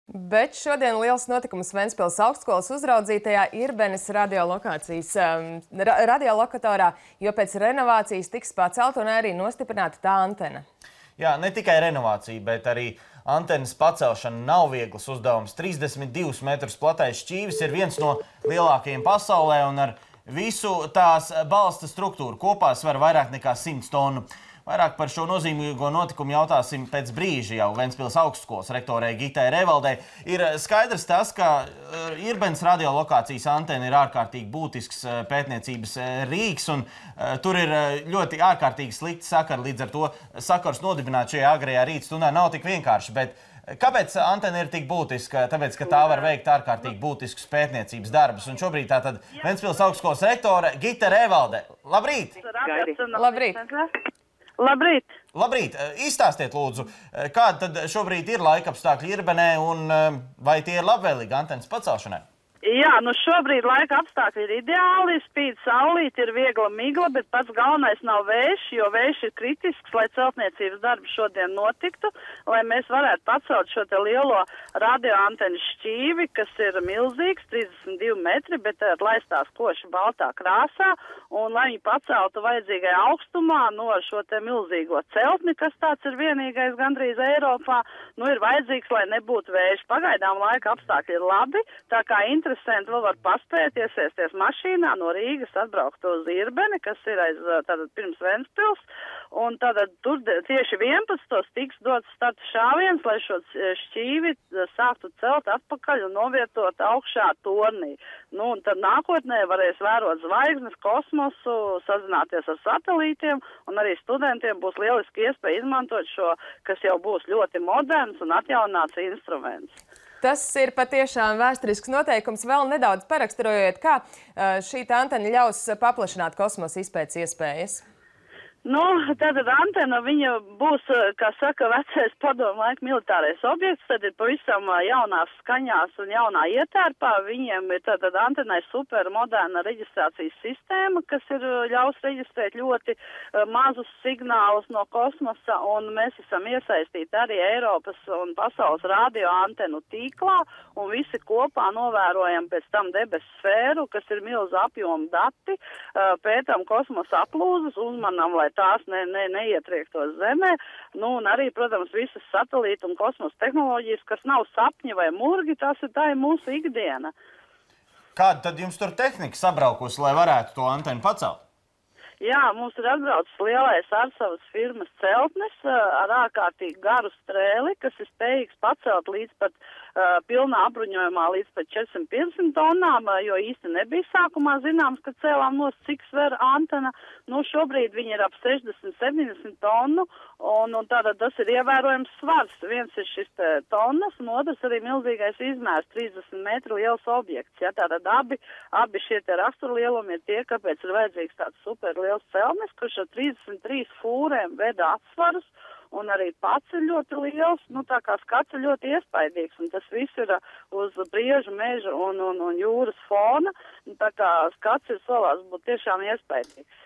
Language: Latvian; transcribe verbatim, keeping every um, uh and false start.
Bet šodien liels notikums Ventspils augstskolas uzraudzītajā Irbenes radiolokācijas um, ra radiolokatorā, jo pēc renovācijas tiks pacelta un arī nostiprināta tā antena. Jā, ne tikai renovācija, bet arī antenas pacelšana nav viegls uzdevums. trīsdesmit divus metrus platais šķīvis ir viens no lielākajiem pasaulē un ar visu tās balsta struktūru kopā svar vairāk nekā simts tonu. Vairāk par šo nozīmīgo notikumu jautāsim pēc brīža jau Ventspils augstskolas rektorei Gitai Revaldei. Ir skaidrs tas, ka Irbenes radiolokācijas antena ir ārkārtīgi būtisks pētniecības rīks, un tur ir ļoti ārkārtīgi slikti sakari, līdz ar to sakars nodibināt šajā agrējā rītstundā nav tik vienkārši. Bet kāpēc antena ir tik būtiska? Tāpēc, ka tā var veikt ārkārtīgi būtiskus pētniecības darbus. Un šobrīd tātad Ventspils augstskolas rektore Gita Revalde. Labrīt! Labrīt! Labrīt! Labrīt! Izstāstiet, lūdzu, kāda tad šobrīd ir laikapstākļi Irbenē un vai tie ir labvēlīgi antenas pacelšanai? Jā, nu šobrīd laika apstākļi ir ideāli, spīd saulīt, ir viegla migla, bet pats galvenais nav vējš, jo vējš ir kritisks, lai celtniecības darbi šodien notiktu, lai mēs varētu pacelt šo te lielo radioantenu šķīvi, kas ir milzīgs, trīsdesmit divi metri, bet laistās koši baltā krāsā, un lai viņi paceltu vajadzīgai augstumā no šo te milzīgo celtni, kas tāds ir vienīgais gandrīz Eiropā, nu ir vajadzīgs, lai nebūtu vējš. Pagaidām laika apstākļi ir labi, tā kā interesanti vēl var paspēt iesēsties mašīnā no Rīgas atbraukt uz Irbeni, kas ir aiz tātad pirms Ventspils, un tātad tur tieši vienpadsmitos tiks dots starta šāviens, lai šo šķīvi sāktu celt atpakaļ un novietot augšā tornī. Nu, un tad nākotnē varēs vērot zvaigznes, kosmosu, sazināties ar satelītiem, un arī studentiem būs lieliski iespēja izmantot šo, kas jau būs ļoti moderns un atjaunāts instruments. Tas ir patiešām vēsturisks noteikums. Vēl nedaudz paraksturojot, kā šī antena ļaus paplašināt kosmosa izpētes iespējas. Nu, tātad antena, viņa būs, kā saka, vecais padomu laika militārais objekts, tad ir pavisam jaunās skaņās un jaunā ietērpā. Viņiem ir tātad antenai supermoderna reģistrācijas sistēma, kas ir ļaus reģistrēt ļoti mazus signālus no kosmosa, un mēs esam iesaistīti arī Eiropas un pasaules radio antenu tīklā, un visi kopā novērojam pēc tam debesu sfēru, kas ir milzu apjomu dati, pētam kosmosa aplūzes, uzmanam, lai tās ne, ne, neietriektos zemē, nu un arī, protams, visas satelīta un kosmosa tehnoloģijas, kas nav sapņi vai murgi, tas ir tā ir mūsu ikdiena. Kāda tad jums tur tehnika sabraukusi, lai varētu to antenu pacelt? Jā, mums ir atbraucis lielais Arsavas firmas celtnis ar ārkārtīgi garu strēli, kas ir spējīgs pacelt līdz pat uh, pilnā apbruņojumā līdz pat četrsimt piecdesmit tonnām, jo īsti nebija sākumā zināms, ka cēlām nos, cik sver antena. Nu, šobrīd viņi ir ap sešdesmit septiņdesmit tonu, un, un tātad tas ir ievērojams svars. Viens ir šis tonnas, un otrs arī milzīgais izmērs, trīsdesmit metru liels objekts. Ja, tātad abi, abi šie te raksturlielumi ir tie, kāpēc ir vajadzīgs tāds super liels celtnis, kurš ar trīsdesmit trīs fūrēm veda atsvarus, un arī pats ir ļoti liels, nu tā kā skats ir ļoti iespaidīgs, un tas viss ir uz briežu, meža un, un, un jūras fona, un tā kā skats ir solās būt tiešām iespaidīgs.